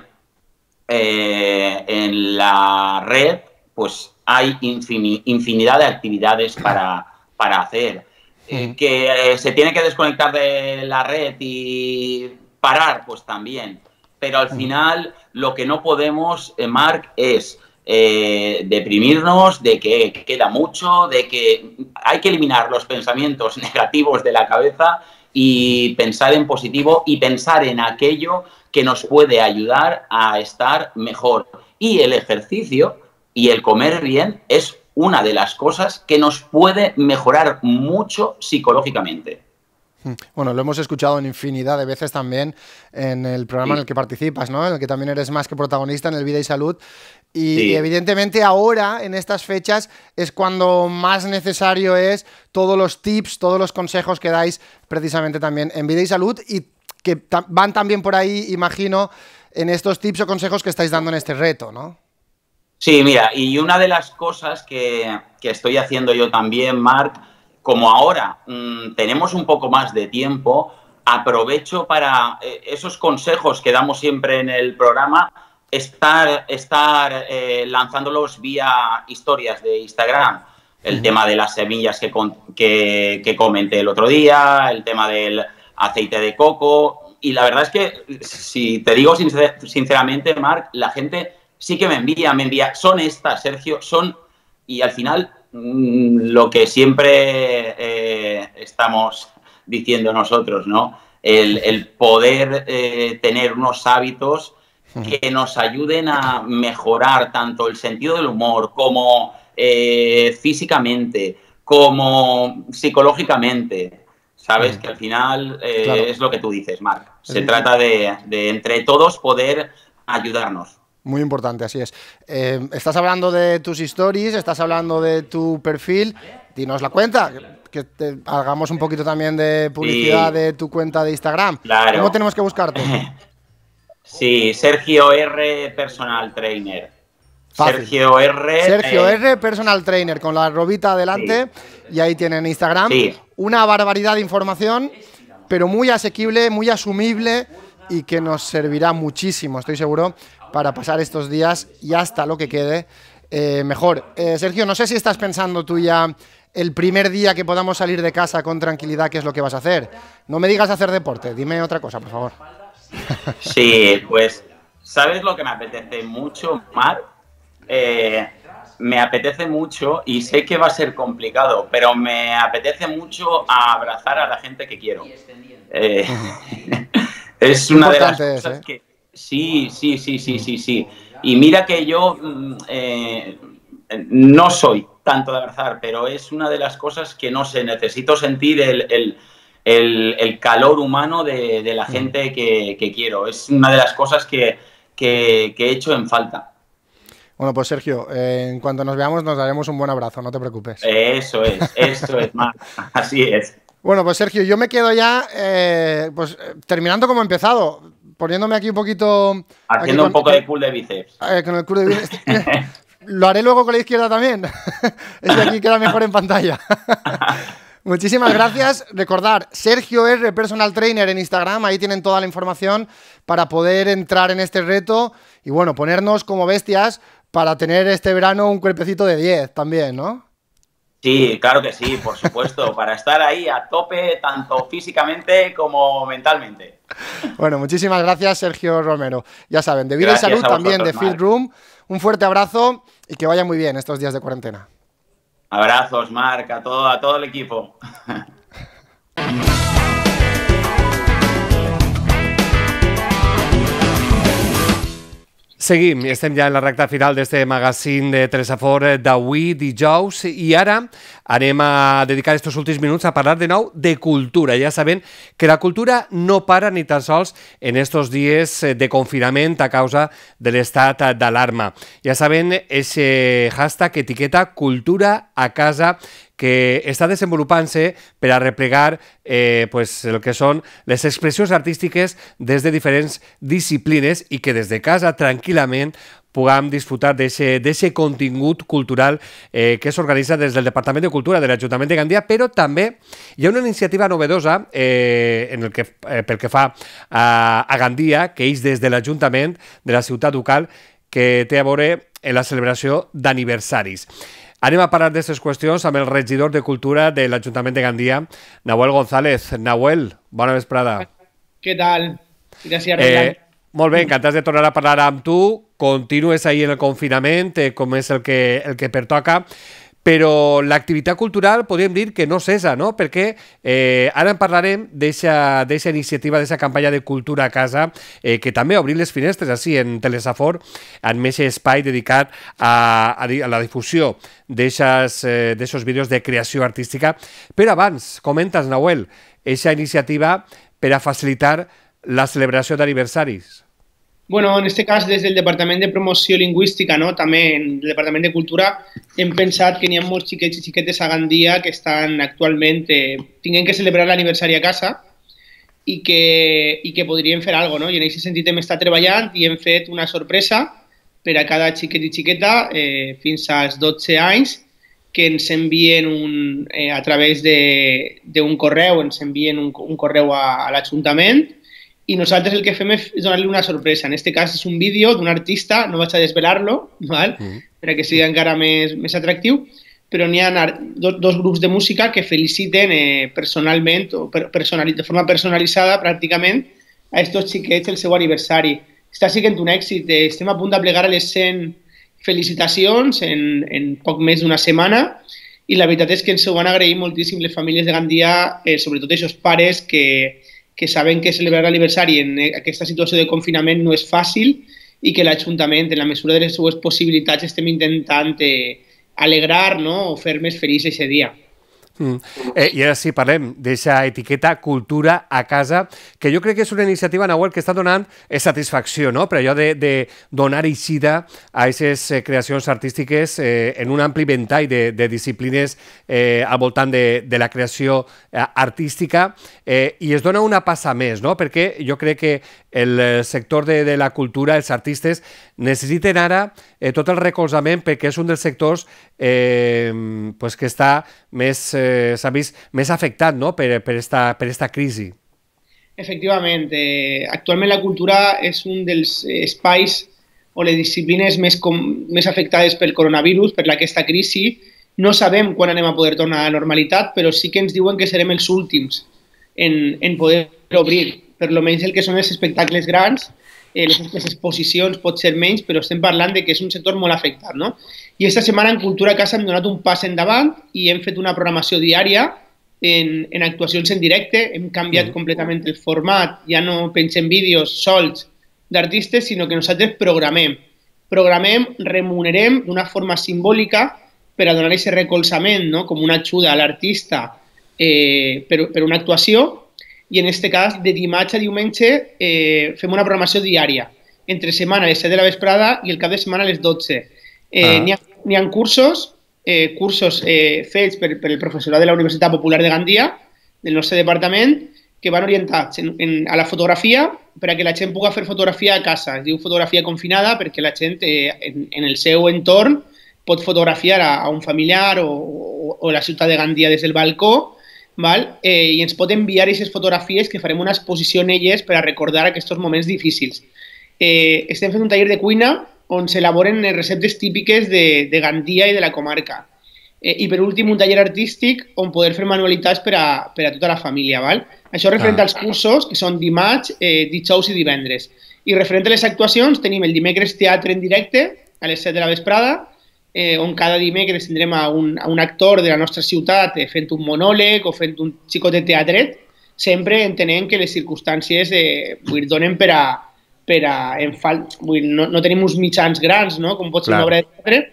en la red, pues hay infinidad de actividades para hacer. Que se tiene que desconectar de la red y parar, pues también. Pero al final lo que no podemos, Marc, es deprimirnos de que queda mucho, de que hay que eliminar los pensamientos negativos de la cabeza y pensar en positivo y pensar en aquello que nos puede ayudar a estar mejor. Y el ejercicio y el comer bien es una de las cosas que nos puede mejorar mucho psicológicamente. Bueno, lo hemos escuchado en infinidad de veces también en el programa en el que participas, ¿no? En el que también eres más que protagonista, en el Vida y Salud. Y evidentemente ahora, en estas fechas, es cuando más necesario es todos los tips, todos los consejos que dais precisamente también en Vida y Salud y que van también por ahí, imagino, en estos tips o consejos que estáis dando en este reto, ¿no? Sí, mira, y una de las cosas que estoy haciendo yo también, Marc, como ahora tenemos un poco más de tiempo, aprovecho para esos consejos que damos siempre en el programa, estar lanzándolos vía historias de Instagram. El tema de las semillas que comenté el otro día, el tema del aceite de coco. Y la verdad es que, si te digo sinceramente, Marc, la gente sí que me envía, son estas, Sergio, son, y al final lo que siempre estamos diciendo nosotros, ¿no? El poder tener unos hábitos que nos ayuden a mejorar tanto el sentido del humor como físicamente, como psicológicamente. Sabes que al final claro, es lo que tú dices, Marc. Se trata de entre todos poder ayudarnos. Muy importante, así es. Estás hablando de tus stories, estás hablando de tu perfil. Dinos la cuenta, que hagamos un poquito también de publicidad de tu cuenta de Instagram. Claro. ¿Cómo tenemos que buscarte? Sí, Sergio R. Personal Trainer. Fácil. Sergio R. Personal Trainer, con la arrobita adelante. Sí. Y ahí tienen Instagram. Sí. Una barbaridad de información, pero muy asequible, muy asumible y que nos servirá muchísimo, estoy seguro, para pasar estos días y hasta lo que quede mejor. Sergio, no sé si estás pensando tú ya el primer día que podamos salir de casa con tranquilidad qué es lo que vas a hacer. No me digas hacer deporte, dime otra cosa, por favor. Sí, pues, ¿sabes lo que me apetece mucho, Marc? Me apetece mucho, y sé que va a ser complicado, pero me apetece mucho abrazar a la gente que quiero. Es una de las cosas que... Sí. Y mira que yo no soy tanto de abrazar, pero es una de las cosas que no sé, necesito sentir el calor humano de la gente que quiero. Es una de las cosas que he hecho en falta. Bueno, pues Sergio, en cuanto nos veamos nos daremos un buen abrazo, no te preocupes. Eso es, Marc, así es. Bueno, pues Sergio, yo me quedo ya terminando como he empezado, poniéndome aquí un poquito... Haciendo un poco de curl de bíceps. Con el curl de bíceps. Lo haré luego con la izquierda también. Ese aquí queda mejor en pantalla. Muchísimas gracias. Recordar, Sergio R. Personal Trainer en Instagram, ahí tienen toda la información para poder entrar en este reto y bueno, ponernos como bestias para tener este verano un cuerpecito de 10 también, ¿no? Sí, claro que sí, por supuesto, para estar ahí a tope, tanto físicamente como mentalmente. Bueno, muchísimas gracias, Sergio Romero. Ya saben, de Vida y Salud, también de Fit Room. Un fuerte abrazo y que vaya muy bien estos días de cuarentena. Abrazos, Marc, a todo el equipo. Seguim, estem ja en la recta final d'este magazín de Telesafort d'avui, dijous, i ara anem a dedicar estos últims minuts a parlar de nou de cultura. Ja saben que la cultura no para ni tan sols en estos dies de confinament a causa de l'estat d'alarma. Ja saben, ese hashtag etiqueta cultura a casa que està desenvolupant-se per a replegar pues, el que són les expressions artístiques des de diferents disciplines i que des de casa tranquil·lament puguem disfrutar d'aquest contingut cultural que s'organitza des del Departament de Cultura de l'Ajuntament de Gandia, però també hi ha una iniciativa novedosa pel que fa a Gandia, que és des de l'Ajuntament de la ciutat ducal, que té a veure en la celebració d'aniversaris. Anem a parlar d'aquestes qüestions amb el regidor de Cultura de l'Ajuntament de Gandia, Nahuel González. Nahuel, bona vesprada. Què tal? Gràcies, molt bé, encantats de tornar a parlar amb tu. Continues ahir en el confinament, com és el que pertoca, però l'activitat cultural podríem dir que no cessa, no? Perquè ara en parlarem d'eixa iniciativa, d'eixa campanya de cultura a casa, que també obrim les finestres així en Telesafor, en aquest espai dedicat a la difusió d'aixos vídeos de creació artística. Però abans, comentes, Nahuel, eixa iniciativa per a facilitar la celebració d'aniversaris. Bueno, en este cas, des del Departament de Promoció Lingüística, no? També en el Departament de Cultura, hem pensat que n'hi ha molts xiquets i xiquetes a Gandia que estan actualment tinguent que celebrar l'aniversari a casa i que podrien fer alguna cosa, no? I en aquest sentit hem estat treballant i hem fet una sorpresa per a cada xiquet i xiqueta fins als 12 anys que ens envien a través d'un correu, ens envien un correu a l'Ajuntament i nosaltres el que fem és donar-li una sorpresa. En aquest cas és un vídeo d'un artista, no vaig a desvelar-lo, perquè sigui encara més atractiu, però n'hi ha dos grups de música que feliciten personalment o de forma personalitzada pràcticament a aquests xiquets el seu aniversari. Està sent un èxit, estem a punt de plegar a les 100 felicitacions en poc més d'una setmana i la veritat és que ens ho van agrair moltíssim les famílies de Gandia, sobretot aquests pares que saben que celebrar l'aniversari en aquesta situació de confinament no és fàcil i que l'Ajuntament, en la mesura de les seues possibilitats, estem intentant alegrar o fer més feliç aquest dia. I ara sí, parlem d'aquesta etiqueta cultura a casa, que jo crec que és una iniciativa, Nahuel, que està donant satisfacció, no? Per allò de donar eixida a aquestes creacions artístiques en un ampli ventall de disciplines al voltant de la creació artística i es dona una passa més, no? Perquè jo crec que el sector de la cultura, els artistes, necessiten ara tot el recolzament perquè és un dels sectors que està s'ha vist més afectat, no? per esta crisi. Efectivament, actualment la cultura és un dels espais o les disciplines més afectades pel coronavirus, per aquesta crisi. No sabem quan anem a poder tornar a la normalitat, però sí que ens diuen que serem els últims en poder obrir, per almenys el que són els espectacles grans, les exposicions pot ser menys, però estem parlant de que és un sector molt afectat, no? I aquesta setmana en Cultura a Casa hem donat un pas endavant i hem fet una programació diària en actuacions en directe, hem canviat completament el format, ja no pengem vídeos solts d'artistes, sinó que nosaltres programem, remunerem d'una forma simbòlica per a donar aquest recolzament, no? Com una ajuda a l'artista per una actuació. I en aquest cas, de dimarts a diumenge, fem una programació diària, entre setmana a les 7 de la vesprada i el cap de setmana a les 12. N'hi ha cursos fets per el professorat de la Universitat Popular de Gandia, del nostre departament, que van orientats a la fotografia per a que la gent pugui fer fotografia a casa. Es diu fotografia confinada perquè la gent en el seu entorn pot fotografiar a un familiar o la ciutat de Gandia des del balcó, i ens pot enviar aquestes fotografies que farem una exposició en elles per a recordar aquests moments difícils. Estem fent un taller de cuina on s'elaboren receptes típiques de Gandia i de la comarca. I per últim un taller artístic on poder fer manualitats per a tota la família. Això referent als cursos, que són dimarts, dijous i divendres. I referent a les actuacions tenim el dimecres teatre en directe a les 7 de la vesprada, on cada dimecres tindrem a un actor de la nostra ciutat fent un monòleg o fent un xicotet teatret, sempre entenent que les circumstàncies donen no tenim uns mitjans grans, no? Com pot ser una obra de teatre,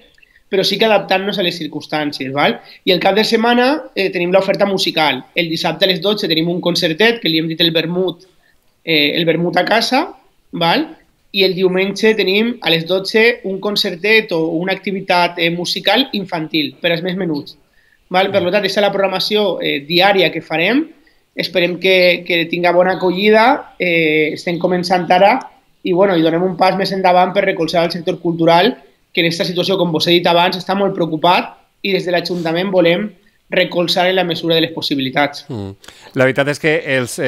però sí que adaptant-nos a les circumstàncies. I el cap de setmana tenim l'oferta musical. El dissabte a les 12 tenim un concertet que li hem dit el vermut a casa, i el diumenge tenim a les 12 un concertet o una activitat musical infantil per als més menuts. Per tant, aquesta és la programació diària que farem. Esperem que tinga bona acollida. Estem començant ara i donem un pas més endavant per recolzar el sector cultural, que en aquesta situació, com vos he dit abans, està molt preocupat i des de l'Ajuntament volem recolzar en la mesura de les possibilitats. La veritat és que els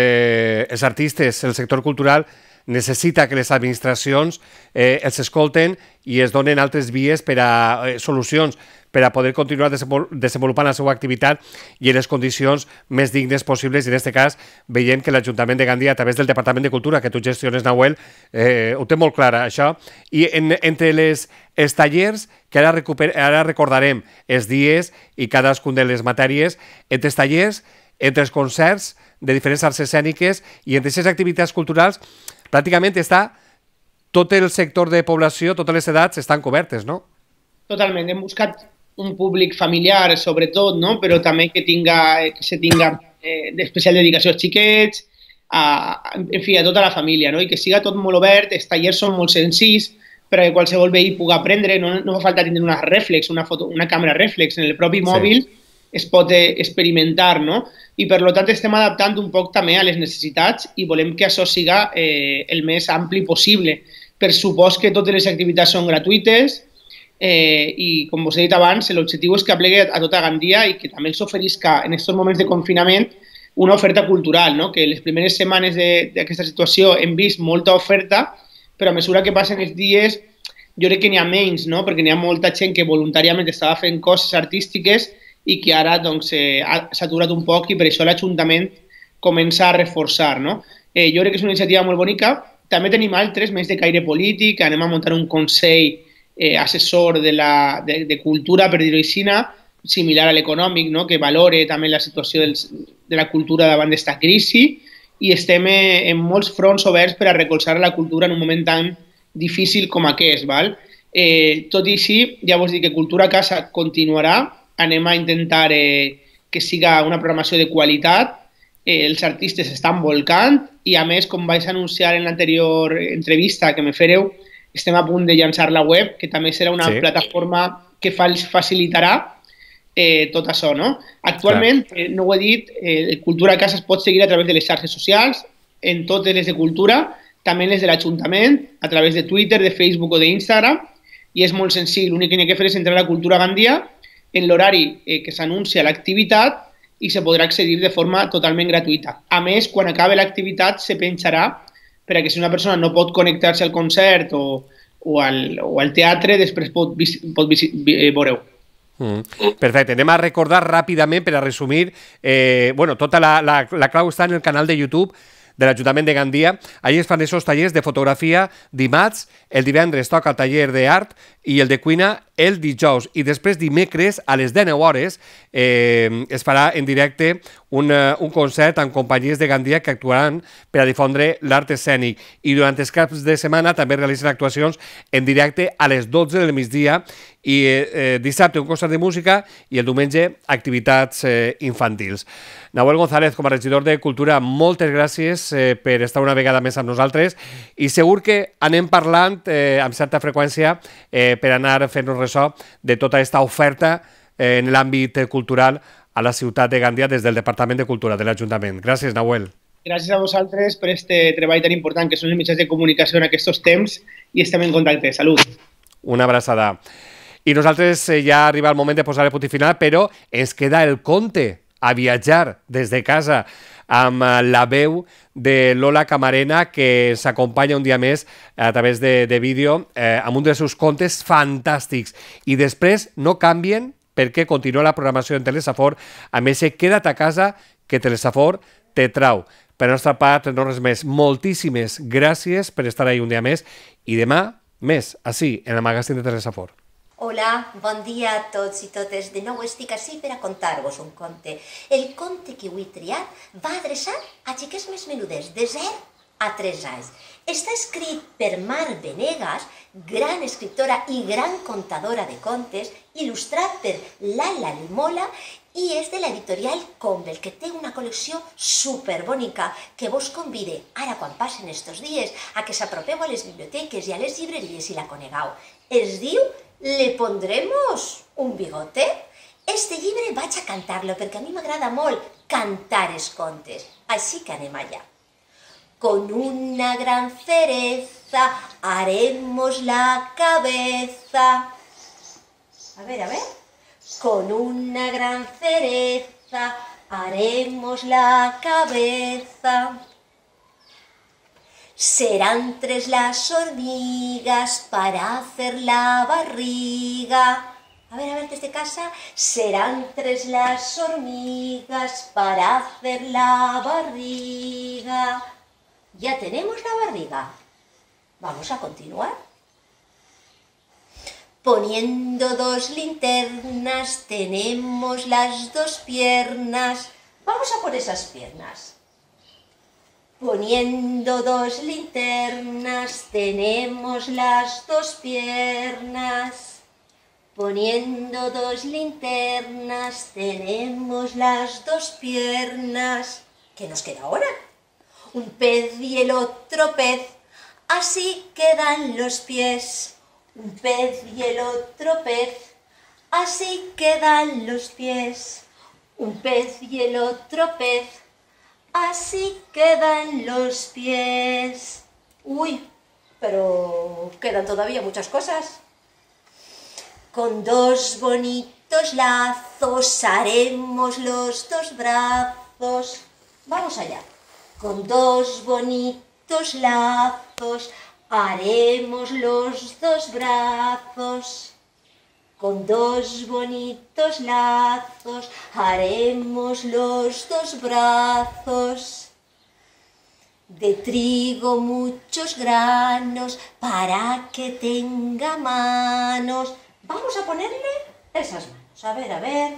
artistes, el sector cultural, necessita que les administracions els escolten i es donen altres vies per a solucions per a poder continuar desenvolupant la seva activitat i en les condicions més dignes possibles. I en aquest cas veiem que l'Ajuntament de Gandia, a través del Departament de Cultura que tu gestiones, Nahuel, ho té molt clar, això. I entre els tallers, que ara recordarem els dies i cadascun de les matèries, entre els tallers, entre els concerts de diferents arts escèniques i entre aquestes activitats culturals, pràcticament està tot el sector de població, totes les edats estan cobertes, no? Totalment. Hem buscat un públic familiar, sobretot, no? Però també que se tinga d'especial dedicació als xiquets, en fi, a tota la família, no? I que siga tot molt obert. Els tallers són molt senzills perquè qualsevol veí pugui aprendre. No fa falta tenir una reflex, una càmera reflex. En el propi mòbil es pot experimentar, no? I per tant estem adaptant un poc també a les necessitats i volem que això siga el més ampli possible. Per supost que totes les activitats són gratuïtes i, com us he dit abans, l'objectiu és que aplegui a tota Gandia i que també els oferisca en aquests moments de confinament una oferta cultural, no? Que les primeres setmanes d'aquesta situació hem vist molta oferta, però a mesura que passen els dies jo crec que n'hi ha menys, no? Perquè n'hi ha molta gent que voluntàriament estava fent coses artístiques i que ara doncs, s'ha aturat un poc i per això l'Ajuntament comença a reforçar, no? Jo crec que és una iniciativa molt bonica. També tenim altres, més de caire polític. Anem a muntar un consell assessor de cultura, per dir-ho així, similar a l'econòmic, no? Que valore també la situació de la cultura davant d'esta crisi i estem en molts fronts oberts per a recolzar la cultura en un moment tan difícil com aquest. Val? Tot i així, ja vos dic que Cultura a Casa continuarà. Anem a intentar que siga una programació de qualitat. Els artistes estan volcant i, a més, com vaig anunciar en l'anterior entrevista que me fareu, estem a punt de llançar la web, que també serà una plataforma que facilitarà tot això, no? Actualment, no ho he dit, Cultura a Casa es pot seguir a través de les xarxes socials, en totes les de cultura, també les de l'Ajuntament, a través de Twitter, de Facebook o d'Instagram, i és molt senzill. L'únic que n'hi ha que fer és entrar a Cultura Gandia en l'horari que s'anuncia l'activitat i se podrà accedir de forma totalment gratuïta. A més, quan acabi l'activitat se penjarà perquè si una persona no pot connectar-se al concert o al teatre, després pot veure-ho. Perfecte. Anem a recordar ràpidament, per a resumir, tota la clau està en el canal de YouTube de l'Ajuntament de Gandia. Allí es fan aquests tallers de fotografia dimarts, el divendres toca el taller d'art i el de cuina el dijous. I després dimecres a les 19 hores es farà en directe un concert amb companyies de Gandia que actuaran per a difondre l'art escènic. I durant els caps de setmana també realitzen actuacions en directe a les 12 del migdia i dissabte un concert de música i el diumenge activitats infantils. Nahuel González, com a regidor de Cultura, moltes gràcies per estar una vegada més amb nosaltres i segur que anem parlant amb certa freqüència per anar fent-nos ressò de tota aquesta oferta en l'àmbit cultural a la ciutat de Gandia des del Departament de Cultura de l'Ajuntament. Gràcies, Nahuel. Gràcies a vosaltres per aquest treball tan important que són els mitjans de comunicació en aquests temps i estem en contacte. Salut. Una abraçada. I nosaltres ja arriba el moment de posar el punt final, però ens queda el conte a viatjar des de casa amb la veu de Lola Camarena, que s'acompanya un dia més a través de vídeo amb un dels seus contes fantàstics. I després no canvien perquè continua la programació en Telesafor amb ese Queda't a casa que Telesafor te trau. Per la nostra part, no res més. Moltíssimes gràcies per estar ahí un dia més i demà més, així, en el magazín de Telesafor. Hola, bon dia a tots i totes. De nou estic ací per a contar-vos un conte. El conte que avui he triat va adreçat a xiquets més menudes, de 0 a 3 anys. Està escrit per Mar Venegas, gran escriptora i gran contadora de contes, il·lustrat per Lala Limola i és de l'editorial Convel, que té una col·lecció superbonica que vos convide, ara quan passen estos dies, a que s'apropeu a les biblioteques i a les llibreries i la conegueu. Es diu ¿Le pondremos un bigote? Este llibre vaig a cantar-lo perquè a mi m'agrada molt cantar els contes. Així que anem allà. Con una gran cereza haremos la cabeza. A ver. Con una gran cereza haremos la cabeza. Serán 3 las hormigas para hacer la barriga. A ver, desde casa. Serán 3 las hormigas para hacer la barriga. Ya tenemos la barriga. Vamos a continuar. Poniendo 2 linternas tenemos las 2 piernas. Vamos a por esas piernas. Poniendo 2 linternas tenemos las 2 piernas. Poniendo 2 linternas tenemos las 2 piernas. ¿Qué nos queda ahora? Un pez y el otro pez, así quedan los pies. Un pez y el otro pez, así quedan los pies. Un pez y el otro pez, así quedan los pies. Uy, pero quedan todavía muchas cosas. Con 2 bonitos lazos haremos los 2 brazos. Vamos allá. Con 2 bonitos lazos haremos los 2 brazos. Con 2 bonitos lazos haremos los 2 brazos. De trigo muchos granos para que tenga manos. Vamos a ponerle esas manos. A ver.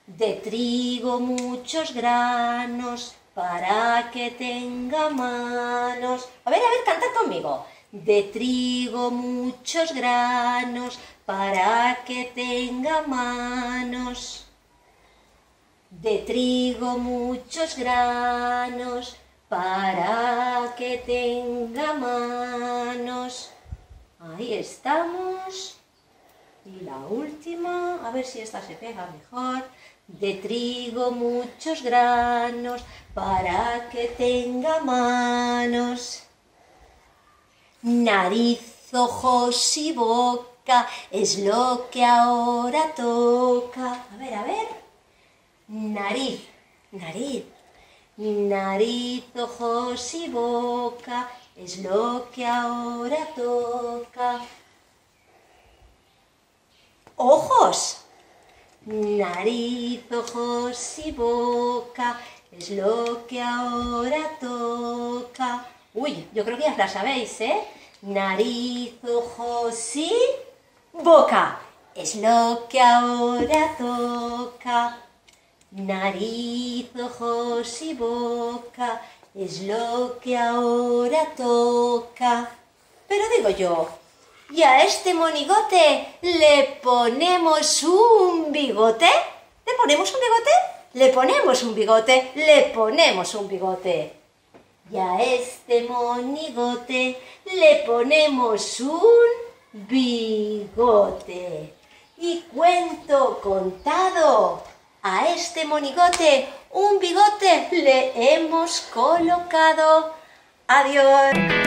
De trigo muchos granos para que tenga manos. A ver, cantad conmigo. De trigo muchos granos para que tenga manos. De trigo muchos granos para que tenga manos. Ahí estamos. Y la última, a ver si esta se pega mejor. De trigo muchos granos para que tenga manos. Nariz, ojos y boca es lo que ahora toca. A ver. Nariz. Nariz, ojos y boca es lo que ahora toca. Ojos. Nariz, ojos y boca es lo que ahora toca. Uy, yo creo que ya la sabéis, ¿eh? Nariz, ojos y boca es lo que ahora toca. Nariz, ojos y boca es lo que ahora toca. Pero digo yo, ¿y a este monigote le ponemos un bigote? ¿Le ponemos un bigote? Le ponemos un bigote, le ponemos un bigote. Y a este monigote le ponemos un bigote. Y cuento contado, a este monigote un bigote le hemos colocado. Adiós.